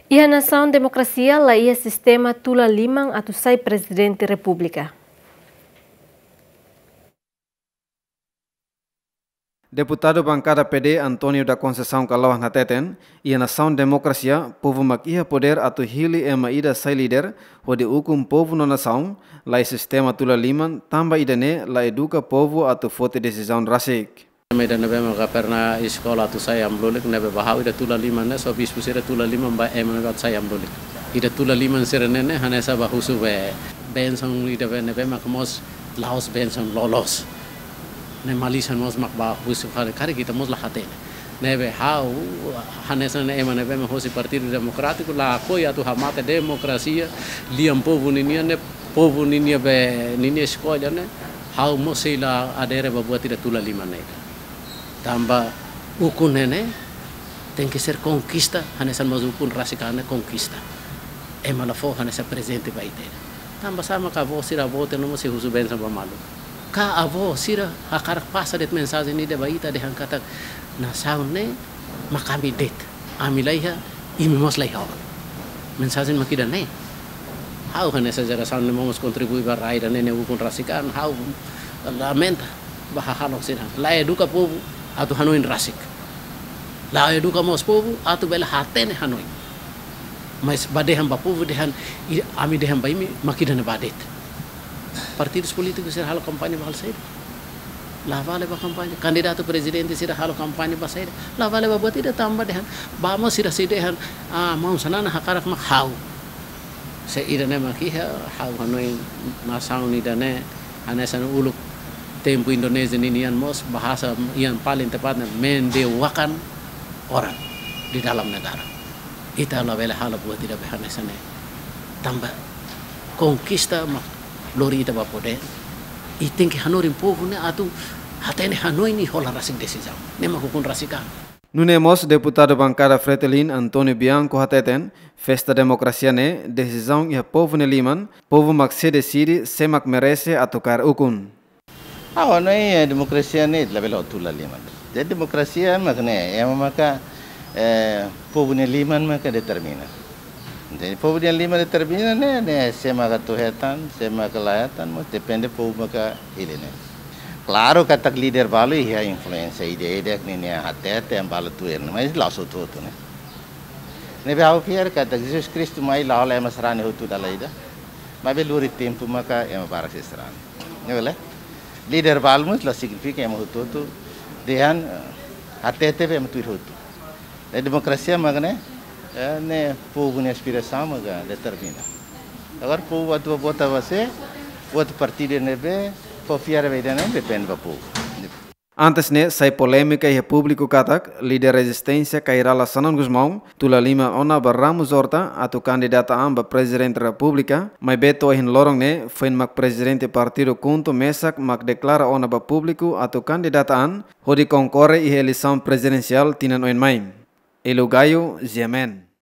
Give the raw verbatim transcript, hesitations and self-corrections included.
Iha nasaun demokrasia la iha sistema tula liman atu sai Prezidente Repúblika. Deputadu bankada P D António da Conceição Kalohan hateten, iha nasaun demokrasia, povu mak iha podér atu hili ema ida sai líder, hodi ukun povu no nasaun, la iha sistema tula liman, tanba ida-ne'e la eduka povu atu foti desizaun rasik. Ema ida ne'ebé maka pernah eskola atu sai amu lulik ne'ebé ba ha'u ida tula liman ne'e, só bispu sira tula liman ba ema ne'ebé atu sai amu lulik. Ida tula liman sira ne'e ne'e hanesan ba husu be bensaun ida be ne'ebé maka mós la'ós bensaun loloos. Ne'e malisan mós mak ba husu fali karik ita mós la hatene. Ne'ebé ha'u hanesan ne'e ema ne'ebé mak hosi Partidu Demokrátiku lakohi atu hamate demokrasia, lian povu ninian ne'e povu ninia be ninia eskolla ne'e, ha'u mós sei la adere ba buat ida tula liman ne'e. Tanba ukun ne'e ne'e, tenke ser konkista, hanesan mós ukun rasik an ne'e konkista. Ema la fó hanesan prezente ba ita. Tanba sá maka avó sira avó te no mós sei husu bensaun ba malu. Ka avó sira hakarak pasa de'it mensajen ida ba ita dehan katak nasaun ne'e mak ami de'it. Ami la iha, imi mós la iha ona. Mensajen mak ida-ne'e. Ha'u hanesan jerasaun ne'ebé mós kontribui ba rai ida-ne'e ne'e ukun rasik an, ha'u lamenta ba hahalok sira. La eduka povu atu hanoin rasik. La eduka mós povu atu bele hatene hanoin. Mas ba dehan ba povu dehan, i-, ami dehan ba imi, mak ida-ne'e ba de'it. Partidus polítikus sira halo kampaña ba halo saida? La vale ba kampaña. Kandidatu prezidente sira halo kampaña ba saida? La vale ba buat ida tanba dehan. Ba mós sira sei dehan, ah, maun Xanana hakarak mak ha'u. Se ida-ne'e mak iha, ha'u hanoin nasaun ida-ne'e, hanesan uluk tempu Indonézia ninian mós, bahasa yang paling tepatnya mendewakan orang di dalam negara. Ita labele halo buat ida be hanesan ne'e. Tanba konkista mak lori ita ba podér. I tenke hanorin povu ne'e atu hatene hanoin i hola rasik desizaun. Ne'e mak ukun rasik an. Nune'e mós deputadu bankada Fretilin António Bianco hateten, festa demokrasia ne'e desizaun iha povu nia liman, povu mak sei deside sé mak merese atu kaer ukun. Ah, no, eh, demokrasia ne'e labele tula liman. Jadi demokrasia mak ne'e, ema maka, eh, povu nia liman maka determina. Jadi povu nia liman determina ne'e, ne'e sé maka atu hetan, sé maka la hetan, mas depende povu maka hili ne'e. Klaru katak líder balu iha influénsia ida-idak ninia hatete ema balu tuir, mas la'ós hotu-hotu ne'e. Ne'ebé ha'u fiar katak Jesus Kristu mai la hola ema sarani hotu dala ida. Maibé lori tempu maka ema barak sei sarani. Ne'e bele? Líder balu mós la signifika ema hotu-hotu dehan, eh, hatete be ema tuir hotu. Ne'e demokrasia mak ne'e, eh, ne'e povu nia aspirasaun maka determina. Agora povu atu vota ba sé, vota partidu ne'ebé fó fiar ba ida-ne'e depende ba povu. Antes ne'e sai polémika iha públiku katak líder rezisténsia Kay Rala Xanana Gusmão tula liman ona ba Ramos Horta atu kandidata an ba Prezidente Repúblika, maibé to'o ohin loron ne'e foin mak prezidente partidu KHUNTO mesak mak deklara ona ba públiku atu kandidata an hodi konkorre iha eleisaun prezidensiál tinan oin mai. Elu Gayo, G M N.